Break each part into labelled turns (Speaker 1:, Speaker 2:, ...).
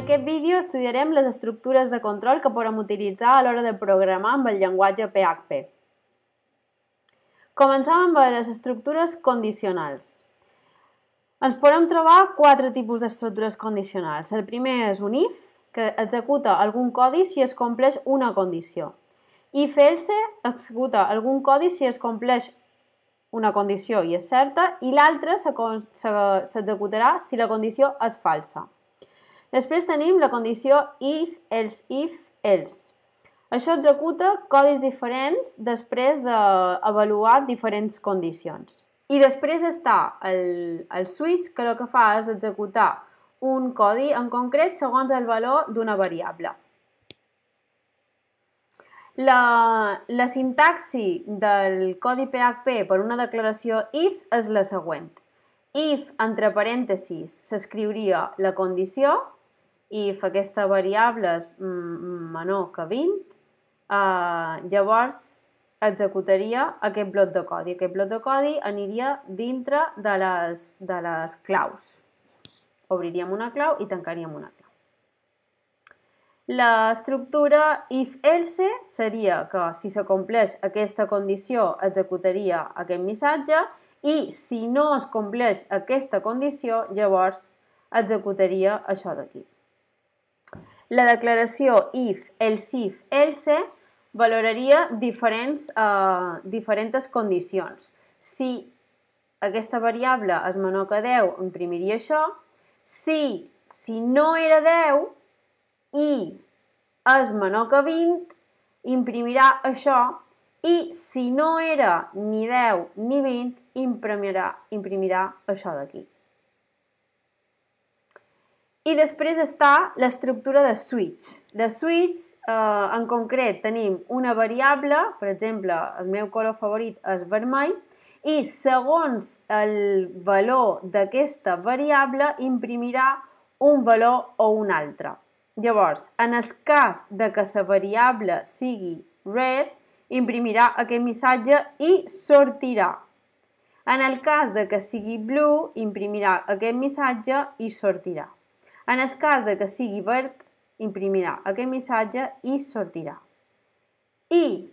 Speaker 1: aquest vídeo estudiarem les estructures de control que podem utilitzar a l'hora de programar amb el llenguatge PHP. Comencem amb les estructures condicionals. Ens podem trobar quatre tipus d'estructures condicionals. El primer és un if, que executa algun codi si es compleix una condició. If else executa algun codi si es compleix una condició i és certa, i l'altre s'executarà si la condició és falsa. Després tenim la condició if, else. Això executa codis diferents després d'avaluar diferents condicions. I després està el switch, que el que fa és executar un codi en concret segons el valor d'una variable. La sintaxi del codi PHP per una declaració if és la següent. If, entre parèntesis, s'escriuria la condició, if aquesta variable és menor que 20, llavors executaria aquest bloc de codi. Aquest bloc de codi aniria dintre de les claus. Obriríem una clau i tancaríem una clau. L'estructura if-else seria que si s'acompleix aquesta condició executaria aquest missatge i si no es compleix aquesta condició llavors executaria això d'aquí. La declaració if, else valoraria diferents condicions. Si aquesta variable és menor que 10, imprimiria això. Si no era 10 i és menor que 20, imprimirà això. I si no era ni 10 ni 20, imprimirà això d'aquí. I després està l'estructura de switch. De switch, en concret, tenim una variable, per exemple, el meu color favorit és vermell, i segons el valor d'aquesta variable imprimirà un valor o un altre. Llavors, en el cas de que la variable sigui red, imprimirà aquest missatge i sortirà. En el cas de que sigui blue, imprimirà aquest missatge i sortirà. En el cas de que sigui verd, imprimirà aquest missatge i sortirà. I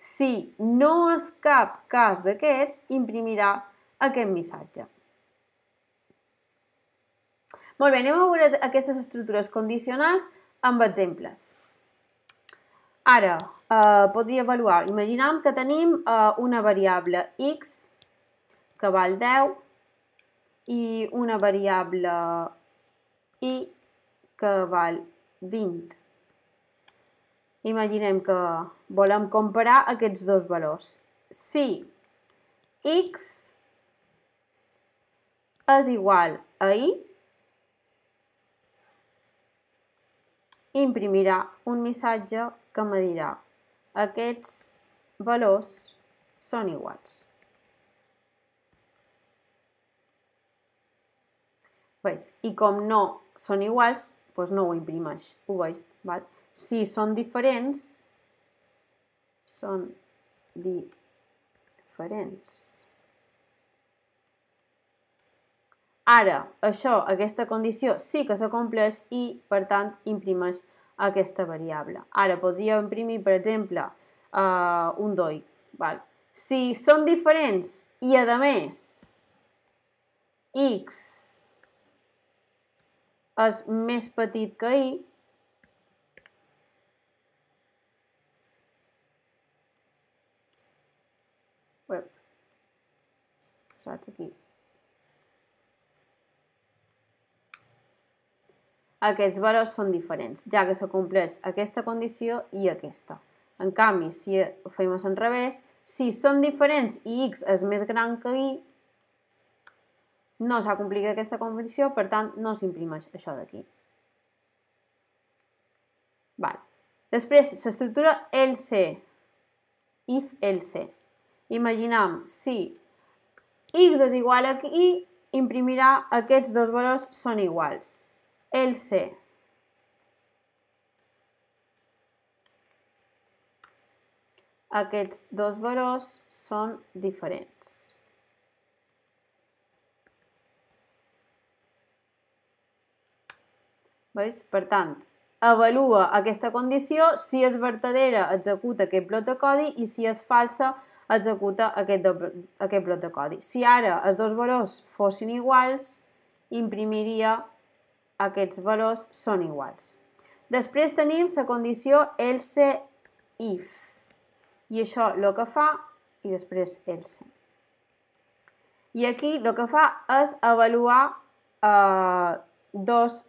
Speaker 1: si no és cap cas d'aquests, imprimirà aquest missatge. Molt bé, anem a veure aquestes estructures condicionals amb exemples. Ara, podria avaluar. Imaginem que tenim una variable x que val 10 i una variable y que val 20. Imaginem que volem comparar aquests dos valors. Si x és igual a y, imprimirà un missatge que me dirà aquests valors són iguals. I com no són iguals, doncs no ho imprimeix. Ho veus? Si són diferents, Ara, aquesta condició sí que s'acompleix i, per tant, imprimeix aquesta variable. Ara podria imprimir, per exemple, un doi. Si són diferents i, a més, x és més petit que y, aquests valors són diferents, ja que s'acompleix aquesta condició i aquesta. En canvi, si ho fem al revés, si són diferents i x és més gran que y, no s'ha complit aquesta condició, per tant, no s'imprimeix això d'aquí. Després, l'estructura else, if-else. Imaginem, si x és igual a y, imprimirà aquests dos valors són iguals. Else, aquests dos valors són diferents. Veus? Per tant, avalua aquesta condició, si és vertadera executa aquest bloc de codi i si és falsa executa aquest bloc de codi. Si ara els dos valors fossin iguals, imprimiria aquests valors són iguals. Després tenim la condició else if i això el que fa i després else. I aquí el que fa és avaluar dues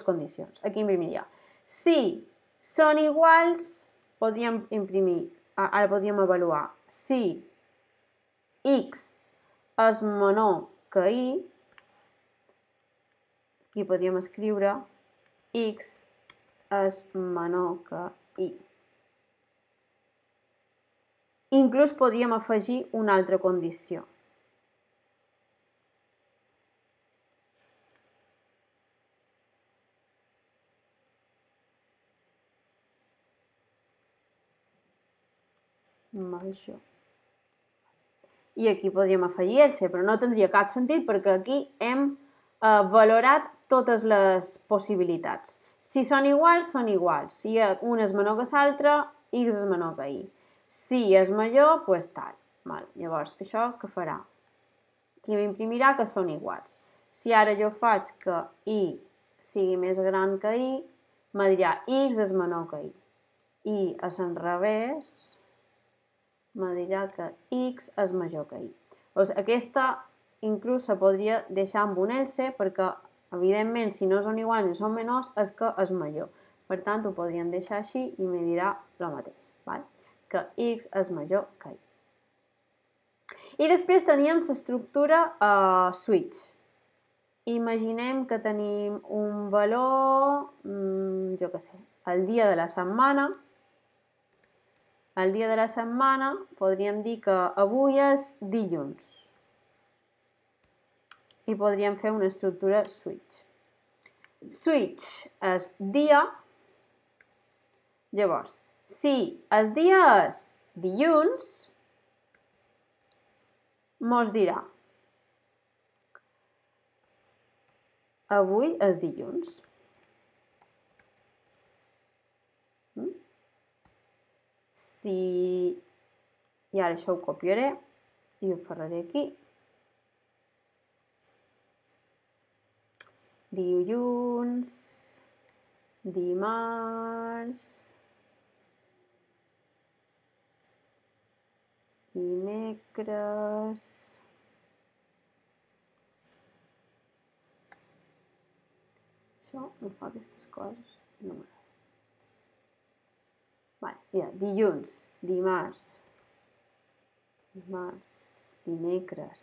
Speaker 1: condicions. Aquí imprimiria. Si són iguals, podríem imprimir, ara podríem avaluar si x és menor que y, aquí podríem escriure x és menor que y. Inclús podríem afegir una altra condició. Major. I aquí podríem afegir else, però no tindria cap sentit perquè aquí hem valorat totes les possibilitats. Si són iguals, són iguals. Si un és menor que l'altre, x és menor que y. Si és major, doncs tal. Llavors, això què farà? Aquí m'imprimirà que són iguals. Si ara jo faig que y sigui més gran que y, me dirà x és menor que y. I a l'enrevés me dirà que x és major que y. Doncs aquesta inclús se podria deixar amb un else perquè, evidentment, si no són iguals ni són menors, és que és major. Per tant, ho podríem deixar així i me dirà el mateix, que x és major que y. I després teníem l'estructura switch. Imaginem que tenim un valor, jo què sé, el dia de la setmana. El dia de la setmana podríem dir que avui és dilluns. I podríem fer una estructura switch. Switch és dia. Llavors, si el dia és dilluns, mos dirà avui és dilluns. I ara això ho copiaré i ho faré aquí. Dilluns, dimarts, dimecres, això no fa aquestes coses, no m'agrada. Dilluns, dimarts, dimecres,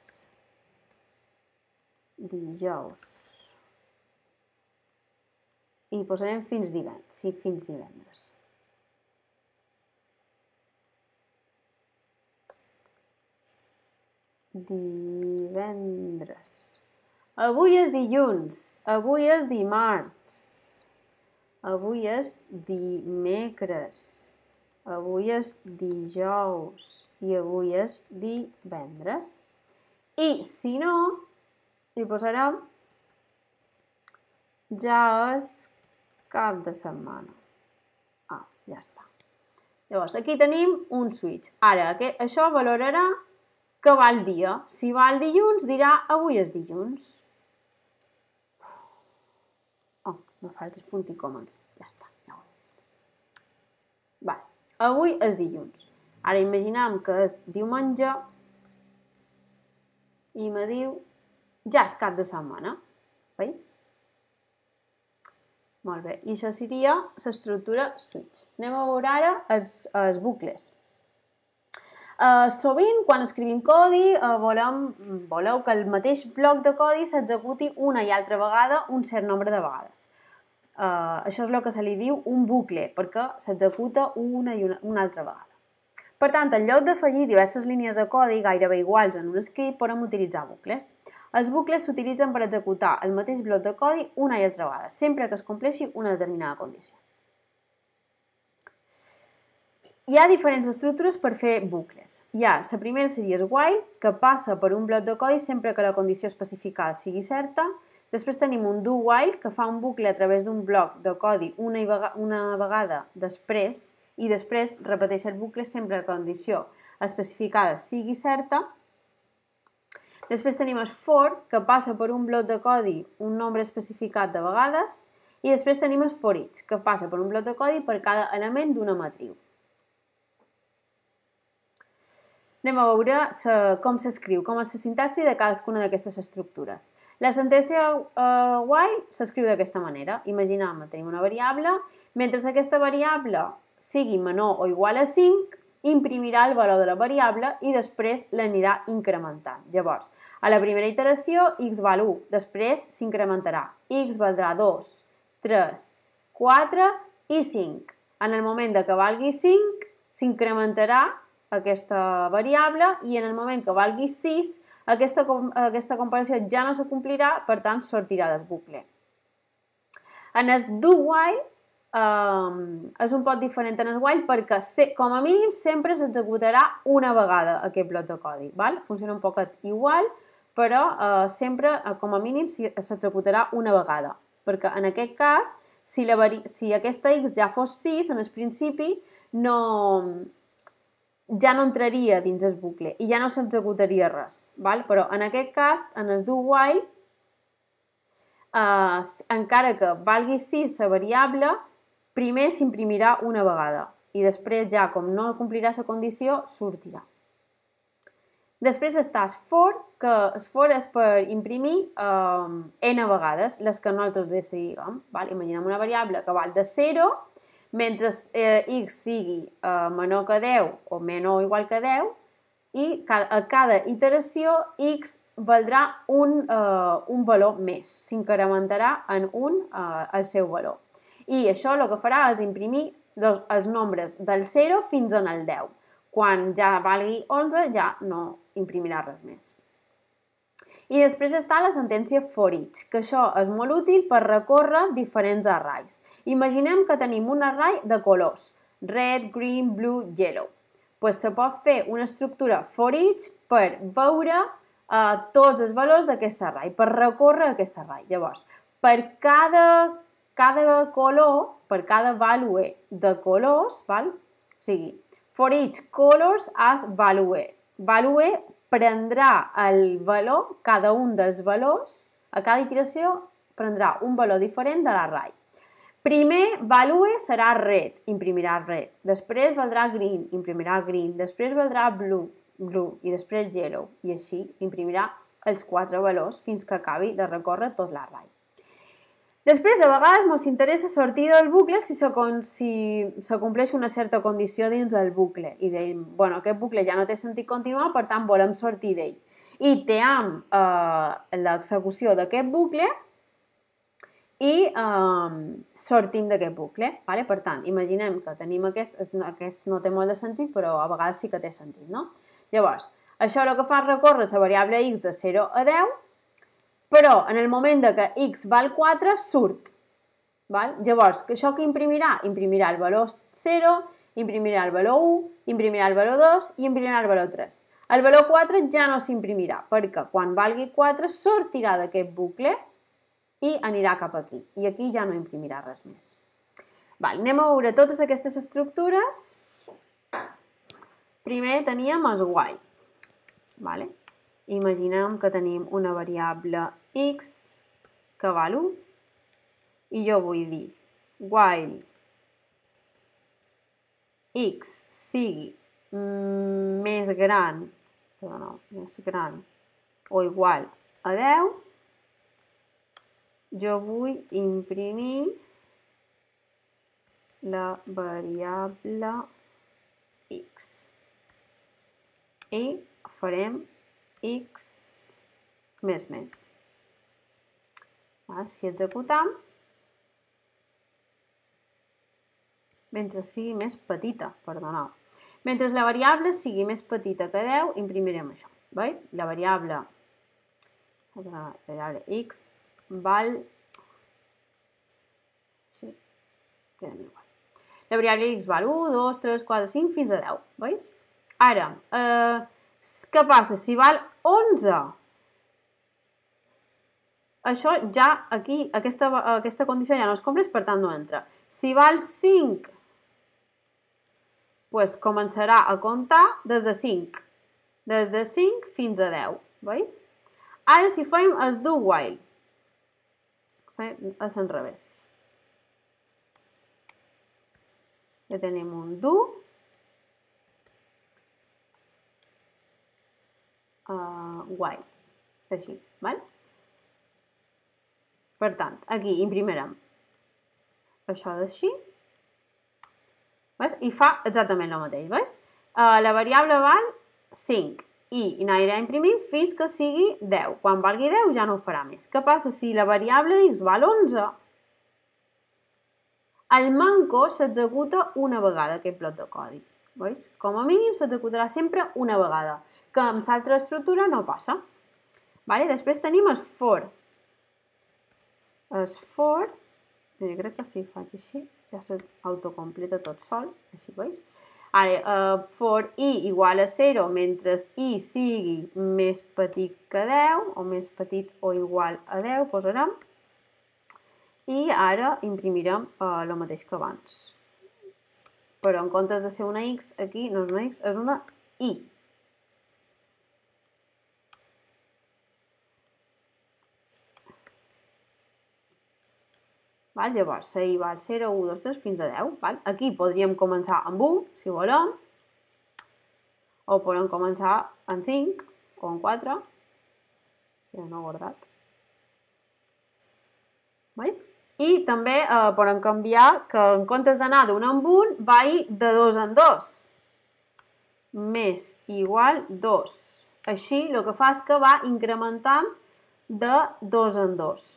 Speaker 1: dijous. I posarem fins divendres. Divendres. Avui és dilluns, avui és dimarts, avui és dimecres, avui és dijous i avui és divendres. I si no, hi posarem ja és cap de setmana. Ja està. Llavors, aquí tenim un switch. Ara, això valorarà que va el dia. Si va el dilluns, dirà avui és dilluns. Me falta el punt i coma aquí. Ja està, ja ho he vist. Avui és dilluns. Ara imaginem que és diumenge i me diu ja és cap de setmana. Veus? Molt bé. I això seria l'estructura switch. Anem a veure ara els bucles. Sovint, quan escrivim codi, voleu que el mateix bloc de codi s'executi una i altra vegada un cert nombre de vegades. Això és el que se li diu un bucle, perquè s'executa una i una altra vegada. Per tant, en lloc d'afegir diverses línies de codi gairebé iguals en un script, podem utilitzar bucles. Els bucles s'utilitzen per executar el mateix bloc de codi una i altra vegada, sempre que es compleixi una determinada condició. Hi ha diferents estructures per fer bucles. La primera seria el while, que passa per un bloc de codi sempre que la condició especificada sigui certa. Després tenim un do while, que fa un bucle a través d'un bloc de codi una vegada després, i després repeteix el bucle sempre que la condició especificada sigui certa. Després tenim el for, que passa per un bloc de codi un nombre especificat de vegades, i després tenim el for each, que passa per un bloc de codi per cada element d'una matriu. Anem a veure com s'escriu, com és la sintaxi de cadascuna d'aquestes estructures. La sentència while s'escriu d'aquesta manera. Imaginem que tenim una variable, mentre aquesta variable sigui menor o igual a 5, imprimirà el valor de la variable i després l'anirà incrementant. Llavors, a la primera iteració, x val 1, després s'incrementarà. X valdrà 2, 3, 4 i 5. En el moment que valgui 5, s'incrementarà aquesta variable i en el moment que valgui 6, aquesta comparació ja no s'acomplirà, per tant, sortirà del bucle. En el do while és un poc diferent en el while perquè, com a mínim, sempre s'executarà una vegada aquest bloc de codi. Funciona un poquet igual, però sempre, com a mínim, s'executarà una vegada. Perquè en aquest cas, si aquesta x ja fos 6, en el principi, ja no entraria dins el bucle i ja no s'executaria res. Però en aquest cas, en el do while, encara que valgui 6 la variable, primer s'imprimirà una vegada i després ja, com no complirà la condició, sortirà. Després està el for, que el for és per imprimir n vegades, les que nosaltres decidim. Imaginem una variable que val de 0, mentre x sigui menor que 10 o menor o igual que 10, i a cada iteració x valdrà un valor més, s'incrementarà en 1 el seu valor. I això el que farà és imprimir els nombres del 0 fins al 10. Quan ja valgui 11 ja no imprimirà res més. I després està la sentència for each, que això és molt útil per recórrer diferents arrays. Imaginem que tenim un array de colors, red, green, blue, yellow. Se pot fer una estructura for each per veure tots els valors d'aquest array, per recórrer aquest array. Llavors, per cada color, per cada value de colors, o sigui, for each colors as value. Value prendrà el valor, cada un dels valors, a cada iteració prendrà un valor diferent de l'array. Primer, value serà red, imprimirà red. Després valdrà green, imprimirà green. Després valdrà blue, blue. I després yellow. I així imprimirà els 4 valors fins que acabi de recórrer tot l'array. Després, a vegades, ens interessa sortir del bucle si s'acompleix una certa condició dins del bucle. I dèiem, aquest bucle ja no té sentit continuar, per tant, volem sortir d'ell. I team l'execució d'aquest bucle i sortim d'aquest bucle. Per tant, imaginem que tenim aquest no té molt de sentit, però a vegades sí que té sentit, no? Llavors, això el que fa és recórrer la variable x de 0 a 10, però en el moment que x val 4, surt. Llavors, això que imprimirà? Imprimirà el valor 0, imprimirà el valor 1, imprimirà el valor 2 i imprimirà el valor 3. El valor 4 ja no s'imprimirà, perquè quan valgui 4 sortirà d'aquest bucle i anirà cap aquí. I aquí ja no imprimirà res més. Anem a veure totes aquestes estructures. Primer teníem el while. Imaginem que tenim una variable x que val 1 i jo vull dir while x sigui més gran o igual a 10, jo vull imprimir la variable x i farem x més. Si executam, mentre sigui més petita, mentre la variable sigui més petita que 10, imprimirem això. La variable x val... La variable x val 1, 2, 3, 4, 5, fins a 10. Veus? Ara, què passa? Si val 11, això ja aquí, aquesta condició ja no es compleix, per tant no entra. Si val 5, doncs començarà a comptar des de 5. Des de 5 fins a 10, veus? Ara si fem el do while, a l'enrevés. Ja tenim un do, while, així, val? Per tant, aquí imprimirem això d'així, i fa exactament el mateix, veus? La variable val 5 i anirà imprimint fins que sigui 10. Quan valgui 10 ja no ho farà més. Què passa si la variable x val 11? El manco s'executa una vegada, aquest bloc de codi. Veus? Com a mínim s'executarà sempre una vegada, que amb l'altra estructura no passa. Després tenim el for. El for, jo crec que si faig així, ja s'autocompleta tot sol, així veus? Ara, for i igual a 0 mentre i sigui més petit que 10, o més petit o igual a 10, posarem. I ara imprimirem el mateix que abans. Però en comptes de ser una x, aquí no és una x, és una i. Llavors, la i val 0, 1, 2, 3, fins a 10. Aquí podríem començar amb 1, si volem, o podem començar amb 5, o amb 4, ja no he guardat. Veus? I també podem canviar que en comptes d'anar d'un en un, vagi de 2 en 2. Més igual 2. Així el que fa és que va incrementant de 2 en 2.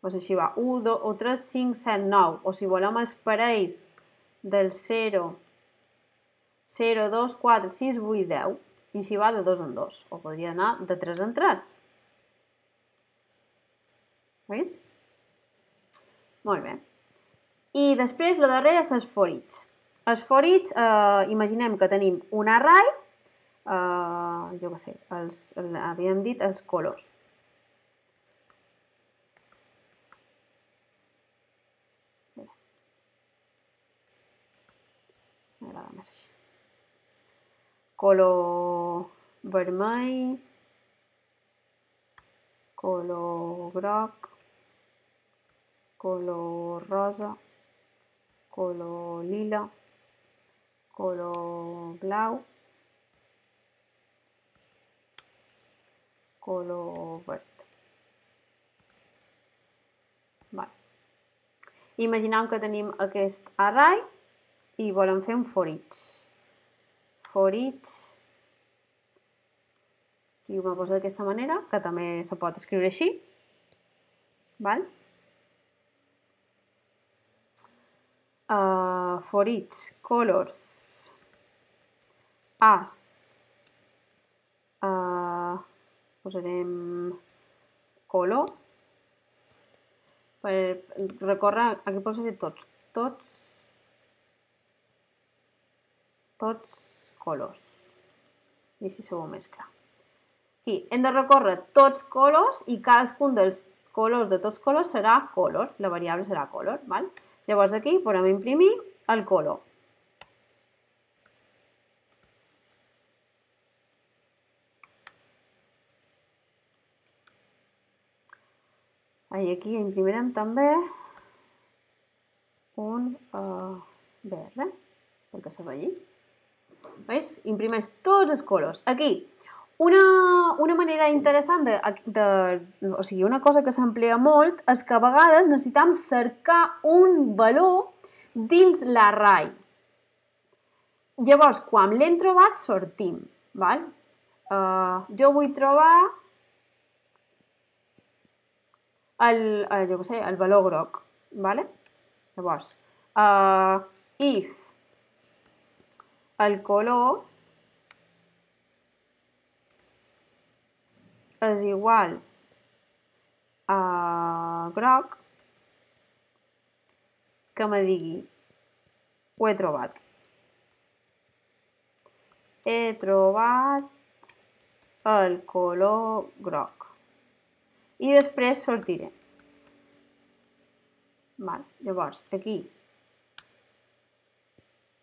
Speaker 1: Doncs així va, 1, 2, 3, 5, 7, 9. O si volem els parells del 0, 0, 2, 4, 6, 8, 10. I així va de 2 en 2. O podria anar de 3 en 3. Veus? Molt bé. I després, el darrer és el for each. El for each, imaginem que tenim un array, jo què sé, havíem dit els colors. M'agrada més així. Color vermell, color groc, color rosa, color lila, color blau, color verd. Imaginem que tenim aquest array i volem fer un for each. For each, aquí ho poso d'aquesta manera, que també se pot escriure així. For each colors as, posarem color, per recórrer, aquí posaré tots colors. I així se veu més clar. Aquí hem de recórrer tots colors i cadascun dels colors de tots colors serà color. La variable serà color. Llavors aquí podem imprimir el color. I aquí imprimirem també un verd, perquè se vegi. Veus? Imprimeix tots els colors. Aquí, una manera interessant, o sigui, una cosa que s'emplea molt és que a vegades necessitem cercar un valor dins l'array. Llavors, quan l'hem trobat, sortim. Jo vull trobar el valor groc. Llavors, if el color és igual a groc, que me digui, ho he trobat. He trobat el color groc. i després sortiré. Vale, llavors, aquí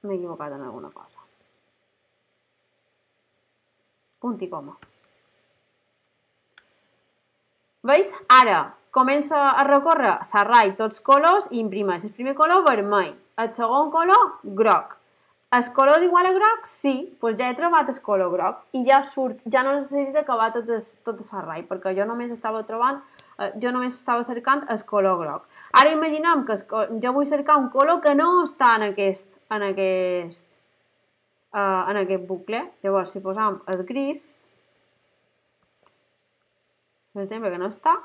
Speaker 1: m'he equivocat en alguna cosa. Punt i coma. Veus? Ara comença a recórrer l'array tots colors i imprimeix el primer color vermell, el segon color groc. El color és igual a groc? Sí, doncs ja he trobat el color groc i ja surt, ja no necessito acabar tot el array, perquè jo només estava cercant el color groc. Ara imaginem que jo vull cercar un color que no està en aquest bucle. Llavors, si posam el gris, per exemple, que no està,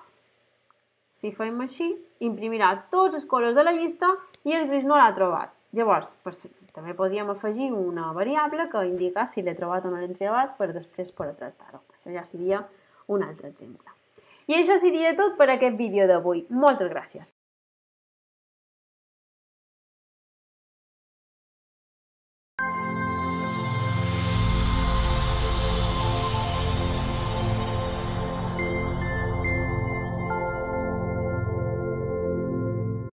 Speaker 1: si fem així, imprimirà tots els colors de la llista i el gris no l'ha trobat. Llavors, també podríem afegir una variable que indica si l'he trobat o no l'he trobat per després poder tractar-ho. Això ja seria un altre exemple. I això seria tot per aquest vídeo d'avui. Moltes gràcies.